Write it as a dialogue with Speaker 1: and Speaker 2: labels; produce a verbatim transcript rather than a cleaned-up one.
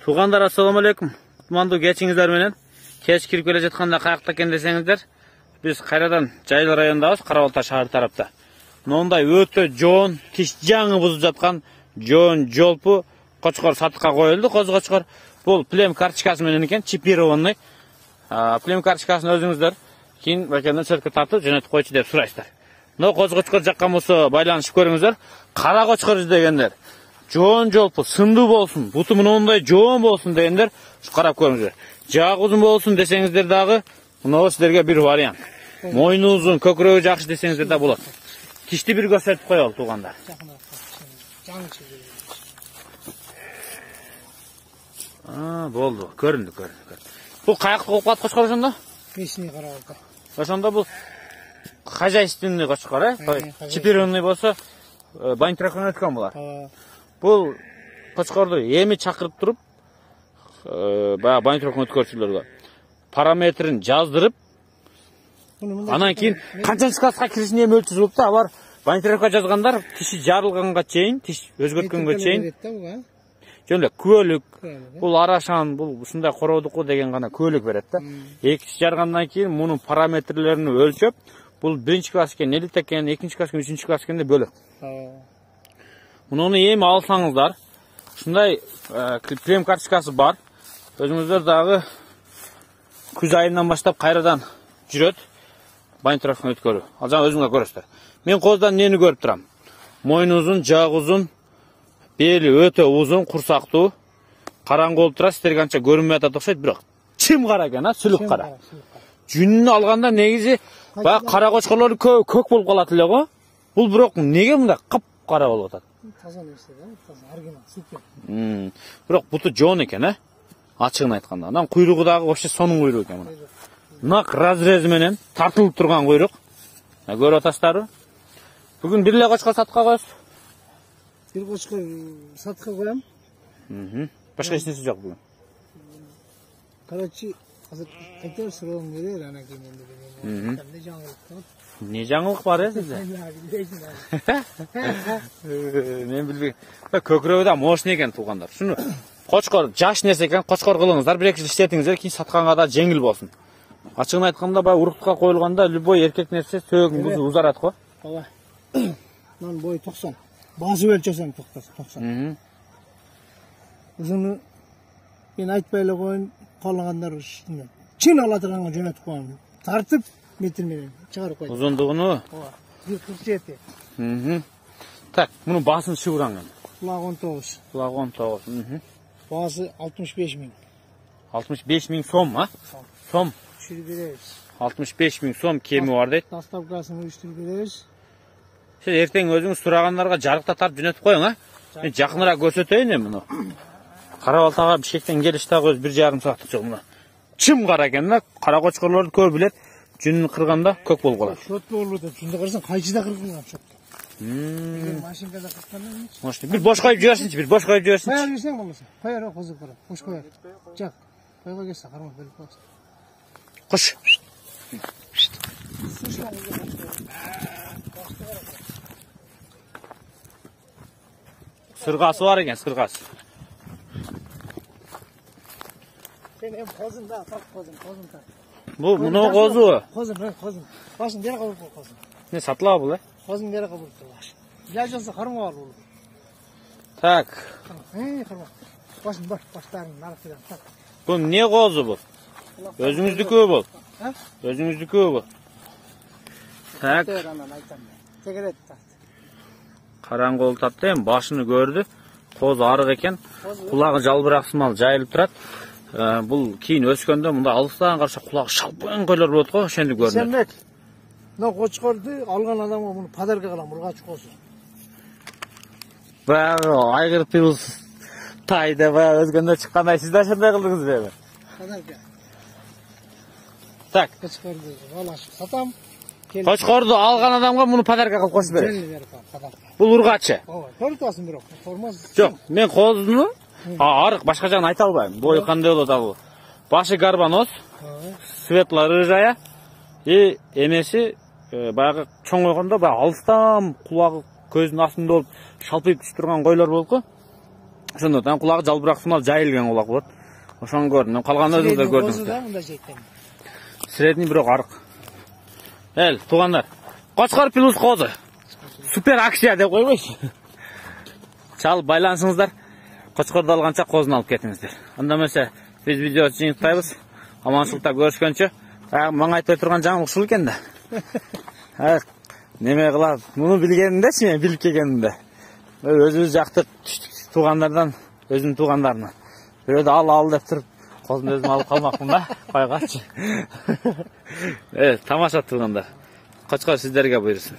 Speaker 1: Туугандар, ассаламу алейкум. Кутмандуу кечиңиздер менен. Кеч кирип келе жатканда каякта экен десеңиздер, биз кайрадан Жайыл районундабыз, Кара Балта шаар тарапта. Мындай өтө жоон, тиш жаңы бузуп жаткан жоон жолпу кочкор сатыкка коюлду. Коз кочкор бул плем карточкасы менен экен, чипированный. Плем карточкасын өзүңүздөр кийин бакенен сөрткө тартып жөнөтүп койчу деп сурайсыздар. Но коз кочкор жаккан болсо байланышып көрүңүздөр. Кара кочкор издегендер, жоон жолпу сындуу болсун, буту мындай жоон болсун дегендер, карап көрүңүздөр. Жагы узун болсун десеңиздер дагы, мына сиздерге бир вариант. Мойну узун, көкүрөгү жакшы десеңиздер да болот. Тишти бир көрсөтүп коелу туугандар. А, болду. Көрүндү, көрүндү. Бул каяктык болуп калат кочкор ошондо?
Speaker 2: Бешине Кара Балта.
Speaker 1: Ошондо бул хозяйственный кочкор, э? Чипированный болсо, бантракан өткөн болот. Бул кочкорду эми чакырып туруп, баягы бантракан өткөрчүлөргө параметрин жаздырып, анан кийин канчанчы класска киришин эми өлчүрүп да, алар бантракка жазгандар тиши жарылганга чейин, тиш өзгөрткөнгө чейин. Жөн эле күбөлүк, бул арашан, бул ушундай короодуку деген гана күбөлүк берет да. Эки тиш жаргандан кийин мунун параметрлерин өлчөп, бул биринчи класс экен, элит экен, экинчи класс экен, үчүнчү класс экен деп бөлөт. Муну эми алсаңыздар, ушундай плем карточкасы бар. Өзүңүздөр дагы күз айынан баштап кайрадан жүрөт бантрактан өткөрүү. Ал жана өзүңөр көрөсүздөр. Мен коздан нени көрүп турам? Мойну узун, жагы узун, бели өтө узун, курсактуу, караңгы болуп турат, сиздерге анча көрүнбөй атат окшойт, бирок чым кара экен, а, сүлүк кара. Жүнүнү алганда негизи баягы кара кочкорлор көк болуп калат эле го. Бул бирок неге мындай кап-кара болуп атат?
Speaker 2: Таза нерсе да, таза оригинал, супер.
Speaker 1: Мм. Бирок буту жоон экен, э? Ачыгын айтканда. Анан куйругу дагы вообще сонун куйрук экен мына. Нак разрези менен тартылып турган куйрук. Көрүп атасыздарбы? Бүгүн бир эле кочкор сатыкка коесуз.
Speaker 2: Бир кочкор сатыкка коем.
Speaker 1: Мм. Башка эч нерсе жок бүгүн.
Speaker 2: Короче, азыр кайтар суроом берер, анан кийин эми эмне жаңылык бар?
Speaker 1: Не жаңылык бар э сизде? Мен билбейм. Көкүрөгү да мощный экен туугандар. Шуну кочкор жаш нерсе экен, кочкор кылыңыздар, бир эки жыл иштетиңиздер, кийин сатканга да жеңил болсун. Ачыгын айтканда, баягы уруктукка коюлганда любой эркек нерсе сөөгүң узарат го.
Speaker 2: Ооба. Мен бою токсон. Басып өлчөсөм токсон. Узуну мен айтпай эле коеюн, каалагандар ушуну чын ала турганга жөнөтүп коем. Тартып метр менен чыгарып коем.
Speaker 1: Узундугуну?
Speaker 2: Ооба. бир кырк жети.
Speaker 1: Мм. Так, мунун баасын шыбыраңын.
Speaker 2: Кулагы он тогуз.
Speaker 1: Кулагы он тогуз. Мм.
Speaker 2: Баасы алтымыш беш миң.
Speaker 1: алтымыш беш миң сом, а? Сом.
Speaker 2: Түшүрүп беребиз.
Speaker 1: алтымыш беш миң сом кеми бар дейт.
Speaker 2: Доставкасын уюштуруп беребиз.
Speaker 1: Сиз эртең өзүңүз сурагандарга жарыкта тартып жөнөтүп коюң, а? Мен жакыныраак көрсөтөйүн эми муну. Кара Балтага Бишкектен келиш дагы бир жарым сааттык жол мына. Чым кара экен да, кара кочкорлорду көп билет. Жүнүн кырганда көк болуп калат.
Speaker 2: Шот болуп атат. Шунда карасаң кайчыда кыргылган шот.
Speaker 1: Мм.
Speaker 2: Машинкада кырткандан кийин.
Speaker 1: Может, бир бош коюп жиберсинчи, бир бош коюп жиберсинчи.
Speaker 2: Кая берсең болмаса. Кая козуп кара. Бош коет. Жак. Койго келсе кармап берип коесуң.
Speaker 1: Куш. Сыргасы бар экен, сыргасы.
Speaker 2: Sen hem kozun da, tak kozun, kozun tak.
Speaker 1: Bu, bunu kozu.
Speaker 2: Kozun, evet kozun. Başın dere kabul kozun.
Speaker 1: Ne satılıyor bu la?
Speaker 2: Kozun dere kabul başın. İlaç olsa karma var olur.
Speaker 1: Tak.
Speaker 2: He, karma. Başın baş, başlarının arasından tak.
Speaker 1: Bu ne kozu bu? Özünüzdükü bu.
Speaker 2: Ha?
Speaker 1: Özünüzdükü bu. Tak.
Speaker 2: Tegeret tak.
Speaker 1: Karangı olup tattı hem başını gördü. Kozu arık eken. Kulağı жалбыраксымал жайылып турат. Бул кийин өскөндө мында алыстан караса кулагы шалпаң койлор болот го, ошентип көрүнөт.
Speaker 2: Сенбек. Мына кочкорду алган адамга муну подарка кылам, ургач козу.
Speaker 1: Баягы айгыр тыбыз тайда баягы өзгөндө чыккандай сиз да ошондой кылдыңызбы эми?
Speaker 2: Подарка.
Speaker 1: Так.
Speaker 2: Кочкорду алашып сатам.
Speaker 1: Кочкорду алган адамга муну подарка кылып коюп берет. Бул ургачы.
Speaker 2: Ооба, көрүп турасың бирок, формасы.
Speaker 1: Жок, мен козуну арык башка жагын айта албайм. Бою кандай болот ал? Башы гарбаноз, светло-рыжая и эмеси баягы чоң койгондо баягы алыстан кулагы көзүнүн астында болуп шалпайып түшүп турган койлор болуп го. Ошондон кулагы жалбырактуу жайылган кулак болот. Ошону көрдүм. Калган өзүңүздөр көрдүңүздөр. Средний бирок арык. Эл, туугандар. Кочкор плюс козу. Супер акция деп койбойсу. Чалып байланышыңыздар. Кочкорду алганча козуну алып кетиңиздер. Анда эмесе биз видеону жыйынтпайбыз. Аманчылыкта көрүшкөнчө. Мага айтпай турган жаңы ушул экен да. Неме кылат? Муну билгениндечи, мен билип келгенимде. Өзүбүз жакты туугандардан, өзүнүн туугандарынан. Бирөөдө ал ал деп туруп, козуну өзүм алып калмакмын да, койгачы. Э, тамаша туугандар. Кочкор сиздерге буйрсун.